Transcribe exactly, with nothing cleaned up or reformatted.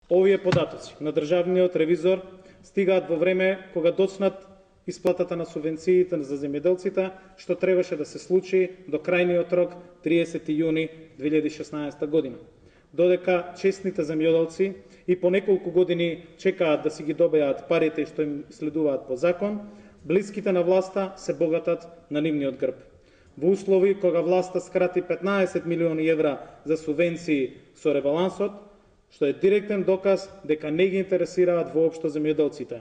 Овие податоци на државниот ревизор стигаат во време кога доцнат исплатата на субвенциите за земјоделците, што требаше да се случи до крајниот рок триесети јуни две илјади и шеснаесета година. Додека честните земјоделци и по неколку години чекаат да си ги добијат парите што им следуваат по закон, блиските на власта се богатат на нивниот грб. Во услови кога власта скрати петнаесет милиони евра за субвенции со ребалансот, што е директен доказ дека не ги интересираат воопшто земјоделците.